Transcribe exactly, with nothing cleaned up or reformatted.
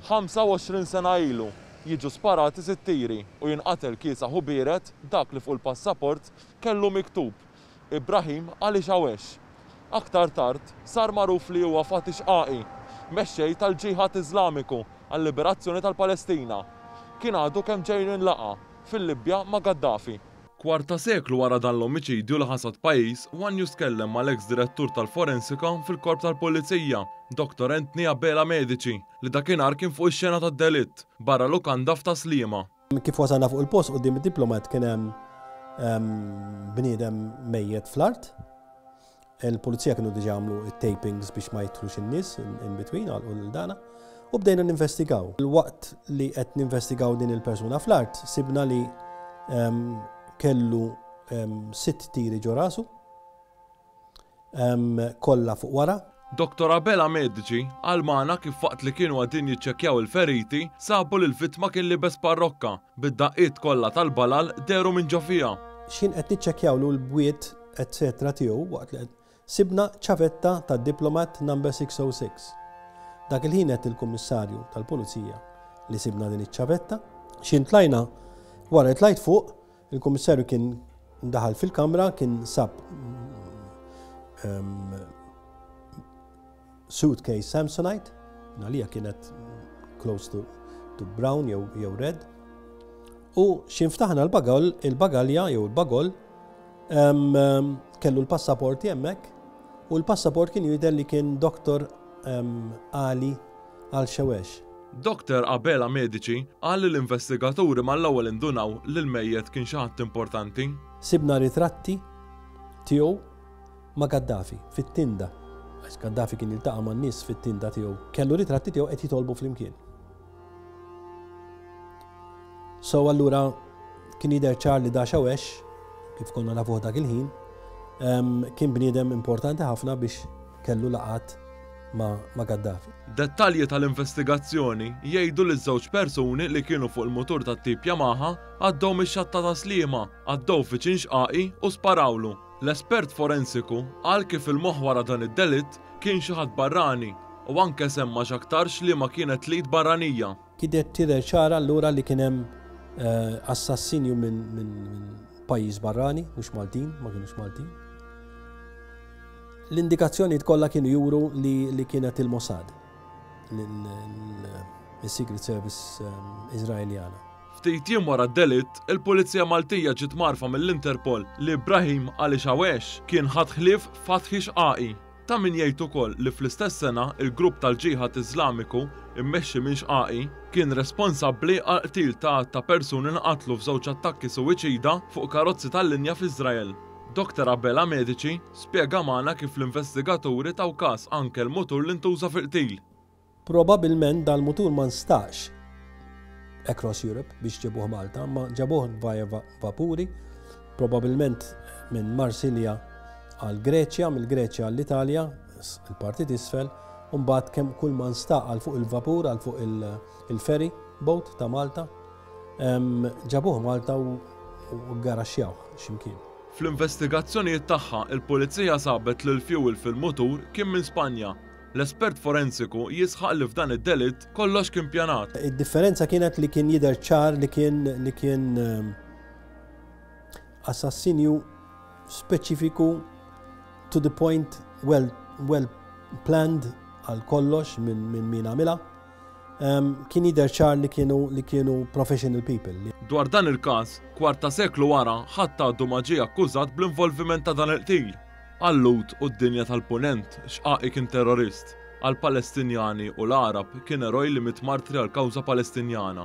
ħamsa u għoxrin sena ilu jiġu sparati sitt tiri u jinqatel kiesaħ u biered dak li fuq il-passaport kellu miktub Ibrahim Ali Shawesh. Aktar tard sar magħruf li huwa Fathi Xqaqi, mexxej tal-Ġiħad Iżlamiku għal-Liberazzjoni tal-Palestina. Kien għadu kemm ġej minn laqgħa fil-Libja ma' Gaddafi. Kwarta seklu wara dan l-omiċidju li ħasad pajjiż, One News tkellem mal-ex direttur tal-forensika fil-korp tal-Pulizija, Doktor Anthony Abela Medici, li dakinhar kien fuq ix-xena tad-delitt barra lukanda f'Tas-Sliema. Kif wasalna fuq il-post quddiem id-Diplomat, kien hemm em, bniedem mejjet fl-art. Il-pulizija kienu diġa għamlu tapings biex ma jidħlux in-nies in, in between għal l-dana. U bdejna ninvestigaw. Il-waqt li qed ninvestigaw din il-persuna fl-art, sibna li em, kellu em, sitt tiri ġo rasu, em, kollha fuq wara. Doktor Abela Medici qal magħna kif waqt li kienu għadin jiċċekkjaw il-feriti, sabu li l-vittma kien libes parrokka bid-daqqiet kollha tal-balal dehru minn ġo fiha. X'ħin qed niċċekkjawlu l-bwiet et cetera tiegħu, waqt li qed sibna ċavetta ta' Diplomat number six oh six. Dak il-ħin għedt il-kummissarju tal-pulizija li sibna din iċ-ċavetta. X'ħin tlajna, wara li tlajt fuq, il-kummissarju kien daħal fil-kamra, kien sab um, suitcase Samsonite, għalija kienet close to, to brown jew, jew red. U x'ħin ftaħna l-bagol, il-bagalja jew il-bagol, um, um, kellu l-passaporti hemmhekk u l-passaport kien jidher li kien Doktor um, Ali Al-Shawesh. Doktor Abela Medici qal li l-investigaturi mal-ewwel indunaw li l-mejjet kien xi ħadd importanti. Sibna ritratti tiegħu ma' Gaddafi fit-tinda. Għax Gaddafi kien jiltaqa' man nies fit-tinda tiegħu. Kellu ritratti tiegħu qed jitolbu flimkien. So allura kien jidher ċar li da Shawesh, kif konna nafuh dak il-ħin, em, kien bniedem importanti ħafna biex kellu laqgħat ma', ma Gaddafi. Dettalji tal-investigazzjoni jgħidu li żewġ persuni li kienu fuq il-mutur tat-tip Yamaha għaddew mix-xatt ta' Tas-Sliema, għaddew viċin Xqaqi u sparawlu. L-espert forensiku qal kif il-moħħ wara dan id-delitt kien xi ħadd barrani u anke semma x'aktarx li ma kienet l-id barranija. Kienet tidher ċara allura li kien hemm eh, assassinju minn min, min pajjiż barrani, mhux Maltin, ma kienux Maltin. L-indikazzjoni kollha kienu juru li, li kienet il-Mossad, il-Secret Service um, Izraeljana. Ftit jiem wara d-delitt, il-Pulizija Maltija ġiet mgħarrfa mill-Interpol li Ibrahim Ali Shawesh kien ħadd ħlief Fathi Xqaqi. Ta' min jgħid ukoll li fl-istess sena il-grupp tal-Ġiħad Iżlamiku immexxi minn Xqaqi kien responsabbli għal qtil ta' ta' persuni nqatlu f'żewġ attakki suwiċida fuq karozzi tal-linja f'Iżrael. Doktor Abela Medici spjega magħna kif l-investigaturi taw każ anke l-mutur li ntuża fil-qtil. Probabilment dal-mutur ma nstaqx across Europe biex ġebuh Malta, ma ġabuh via vapuri, probabilment minn Marsilja għal Greċja, mill-Greċja għall-Italja, il-parti t'isfel, u mbagħad kemm kull ma nstaq għal fuq il-vapur, għal fuq il-ferry boat ta' Malta, ġabuh Malta u garaxxjaw x'imkien. Fl-investigazzjonijiet tagħha, il-Pulizija sabet li l-fuel fil-mutur kien minn Spanja. L-espert forensiku jisħaq li f'dan id-delitt kollox kien pjanat. Id-differenza kienet li kien jidher ċar li kien li kien assassinju speċifiku, to the point, well, well planned għal kollox minn min min għamilha. Um, kien jidher ċar li kienu li kienu professional people. Dwar dan il-każ, kwarta seklu wara, ħadd għadu ma ġie akkużat bl-involviment ta' dan il-qtil. Għal-Lhud u d-dinja tal-Punent, Xqaqi kien terrorist. Għal-Palestinjani u l-Arab kien eroj li miet martri għal kawża Palestinjana.